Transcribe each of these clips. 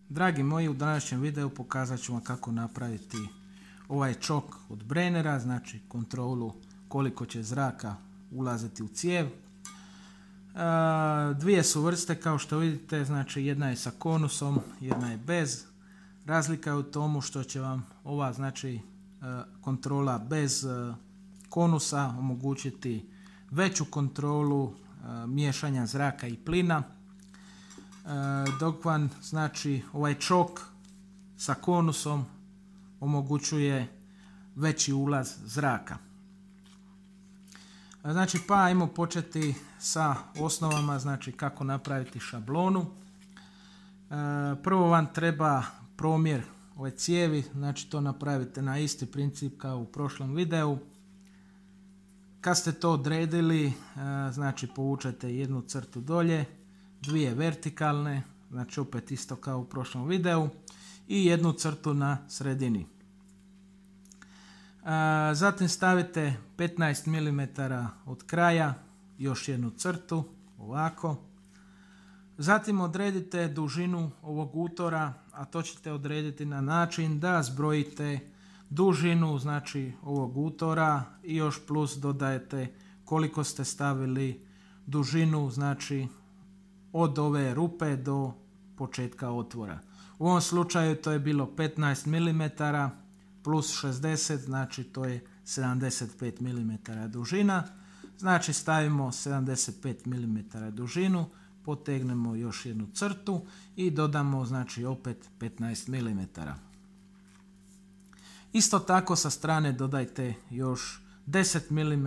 Dragi moji, u današnjem videu pokazat ću vam kako napraviti ovaj čok od Brennera, znači kontrolu koliko će zraka ulaziti u cijev. Dvije su vrste kao što vidite, znači jedna je sa konusom, jedna je bez. Razlika je u tomu što će vam ova znači kontrola bez konusa omogućiti veću kontrolu miješanja zraka i plina, dok vam znači ovaj čok sa konusom omogućuje veći ulaz zraka. Znači pa ajmo početi sa osnovama, znači kako napraviti šablonu. Prvo vam treba promjer ove cijevi, znači to napravite na isti princip kao u prošlom videu. Kad ste to odredili, znači povučete jednu crtu dolje, dvije vertikalne, znači opet isto kao u prošlom videu, i jednu crtu na sredini. Zatim stavite 15 mm od kraja, još jednu crtu, ovako. Zatim odredite dužinu ovog utora, a to ćete odrediti na način da zbrojite dužinu znači ovog utora i još plus dodajete koliko ste stavili dužinu znači od ove rupe do početka otvora. U ovom slučaju to je bilo 15 mm plus 60, znači to je 75 mm dužina. Znači stavimo 75 mm dužinu, potegnemo još jednu crtu i dodamo znači opet 15 mm. Isto tako sa strane dodajte još 10 mm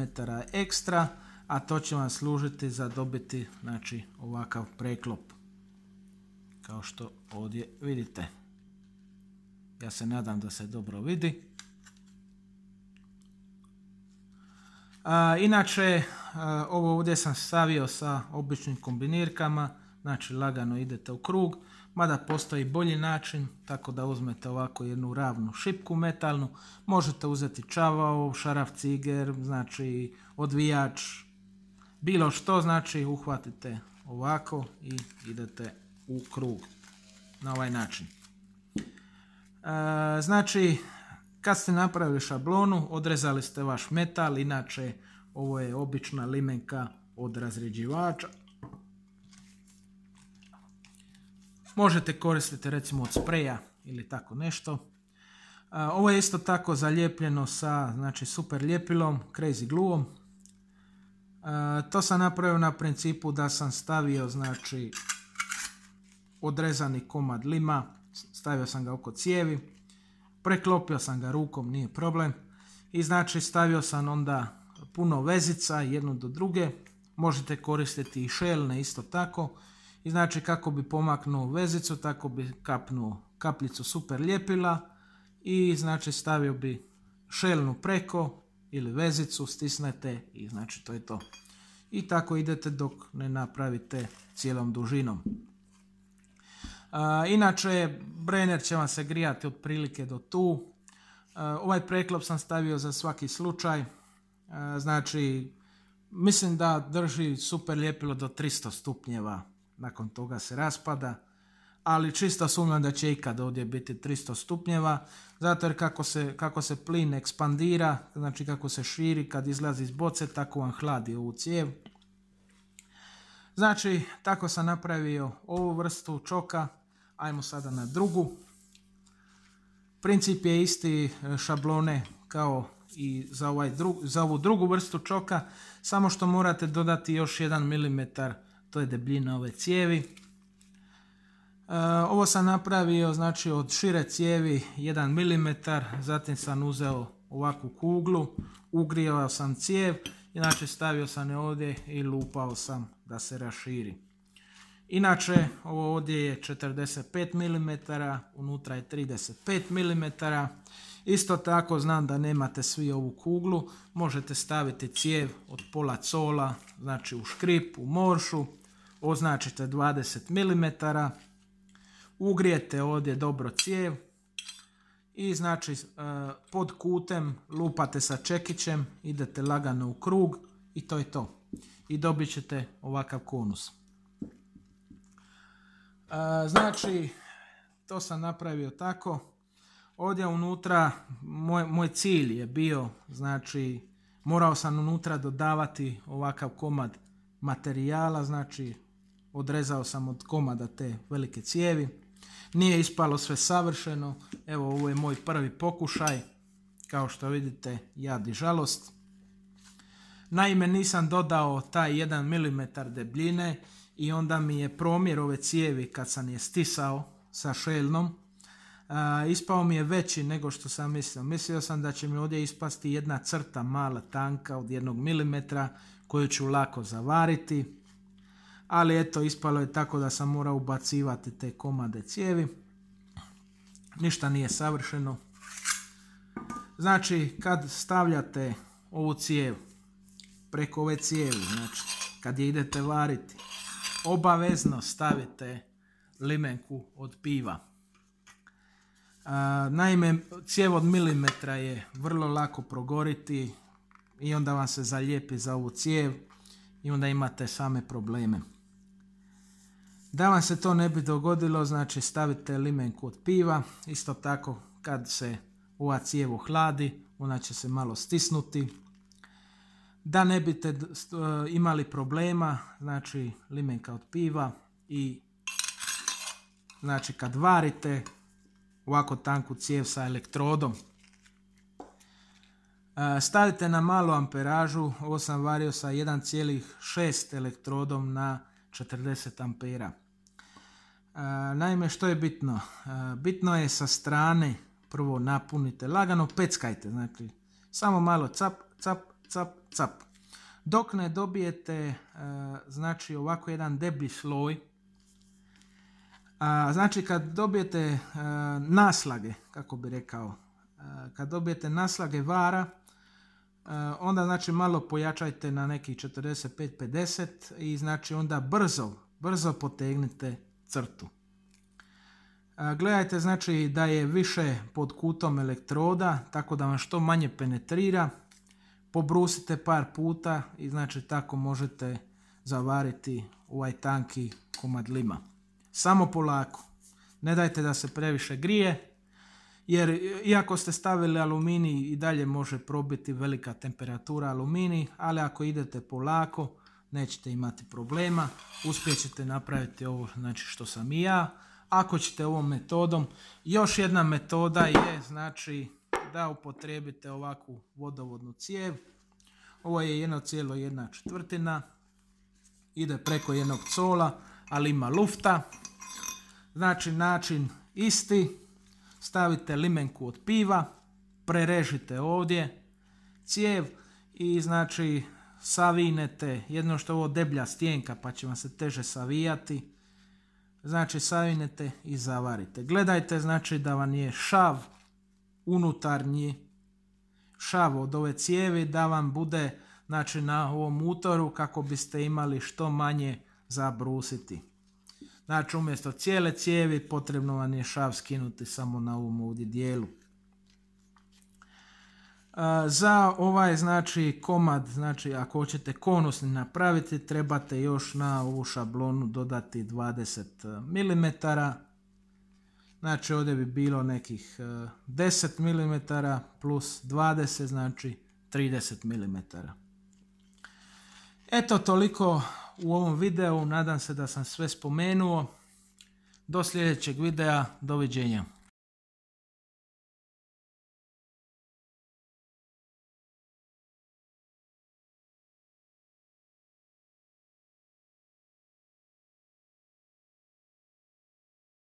ekstra, a to će vam služiti za dobiti znači ovakav preklop. Kao što ovdje vidite. Ja se nadam da se dobro vidi. Inače, ovo ovdje sam stavio sa običnim kombinirkama, znači lagano idete u krug, mada postoji bolji način, tako da uzmete ovako jednu ravnu šipku metalnu, možete uzeti čavao, šaraf ciger, znači odvijač, bilo što, znači uhvatite ovako i idete u krug na ovaj način. Znači, kad ste napravili šablonu, odrezali ste vaš metal, inače ovo je obična limenka od razređivača. Možete koristiti recimo od spreja ili tako nešto. Ovo je isto tako zalijepljeno sa znači, super ljepilom, crazy glueom. To sam napravio na principu da sam stavio znači odrezani komad lima, stavio sam ga oko cijevi, preklopio sam ga rukom, nije problem, i znači stavio sam onda puno vezica jednu do druge. Možete koristiti i šelne isto tako, i znači kako bi pomaknuo vezicu, tako bi kapnuo kapljicu super ljepila i znači stavio bi šelnu preko ili vezicu, stisnete i znači to je to. I tako idete dok ne napravite cijelom dužinom. Inače, Brenner će vam se grijati otprilike do tu. Ovaj preklop sam stavio za svaki slučaj. Znači, mislim da drži super ljepilo do 300 stupnjeva. Nakon toga se raspada. Ali čisto sumnjam da će ikad ovdje biti 300 stupnjeva. Zato jer kako se plin ekspandira, znači kako se širi kad izlazi iz boce, tako vam hladi ovu cijev. Znači, tako sam napravio ovu vrstu čoka. Ajmo sada na drugu. Princip je isti šablone kao i za ovu drugu vrstu čoka, samo što morate dodati još 1 mm, to je debljina ove cijevi. Ovo sam napravio znači od šire cijevi 1 mm, zatim sam uzeo ovakvu kuglu, ugrijao sam cijev, inače stavio sam je ovdje i lupao sam da se raširi. Inače, ovo ovdje je 45 mm, unutra je 35 mm. Isto tako znam da nemate svi ovu kuglu, možete staviti cijev od pola cola, znači u škrip, u moršu, označite 20 mm, ugrijete ovdje dobro cijev i znači pod kutem lupate sa čekićem, idete lagano u krug i to je to. I dobit ćete ovakav konus. Znači, to sam napravio tako. Ovdje unutra, moj cilj je bio, znači, morao sam unutra dodavati ovakav komad materijala, znači, odrezao sam od komada te velike cijevi. Nije ispalo sve savršeno, evo ovo je moj prvi pokušaj, kao što vidite, jad i žalost. Naime, nisam dodao taj 1 mm debljine i onda mi je promjer ove cijevi kad sam je stisao sa šeljnom, ispao mi je veći nego što sam mislio. Mislio sam da će mi ovdje ispasti jedna crta mala tanka od 1 mm koju ću lako zavariti, ali eto, ispalo je tako da sam morao ubacivati te komade cijevi. Ništa nije savršeno. Znači, kad stavljate ovu cijev preko ove cijevi, znači kad je idete variti, obavezno stavite limenku od piva. Naime, cijev od milimetra je vrlo lako progoriti i onda vam se zalijepi za ovu cijev i onda imate same probleme. Da vam se to ne bi dogodilo, znači stavite limenku od piva. Isto tako kad se ova cijev ohladi, ona će se malo stisnuti. Da ne biste imali problema, znači limenka od piva i znači kad varite ovako tanku cijev sa elektrodom. Stavite na malu amperažu, ovo sam vario sa 1,6 elektrodom na 40 ampera. Naime, što je bitno? Bitno je sa strane prvo napunite, lagano peckajte, znači samo malo cap, cap, cap, cap. Dok ne dobijete znači ovako jedan deblji sloj, znači kad dobijete naslage, kako bi rekao, kad dobijete naslage vara, onda znači malo pojačajte na nekih 45-50 i znači onda brzo potegnite crtu. Gledajte znači da je više pod kutom elektroda, tako da vam što manje penetrira. Pobrusite par puta i znači tako možete zavariti ovaj tanki komad lima. Samo polako. Ne dajte da se previše grije, jer iako ste stavili aluminij i dalje može probiti velika temperatura aluminij, ali ako idete polako nećete imati problema. Uspjet ćete napraviti ovo znači što sam i ja. Ako ćete ovom metodom, još jedna metoda je znači da upotrijebite ovakvu vodovodnu cijev. Ovo je 1,1/4, ide preko jednog cola, ali ima lufta. Znači način isti, stavite limenku od piva, prerežite ovdje cijev i znači savinete, jedno što je ovo deblja stjenka pa će vam se teže savijati, znači savinete i zavarite. Gledajte znači da vam je šav, unutarnji šav od ove cijevi, da vam bude znači na ovom utoru kako biste imali što manje za brusiti. Znači umjesto cijele cijevi potrebno vam je šav skinuti samo na ovom ovdje dijelu. Za ovaj znači komad, znači ako hoćete konusni napraviti, trebate još na ovu šablonu dodati 20 mm. Znači ovdje bi bilo nekih 10 mm plus 20, znači 30 mm. Eto toliko u ovom videu, nadam se da sam sve spomenuo. Do sljedećeg videa, doviđenja.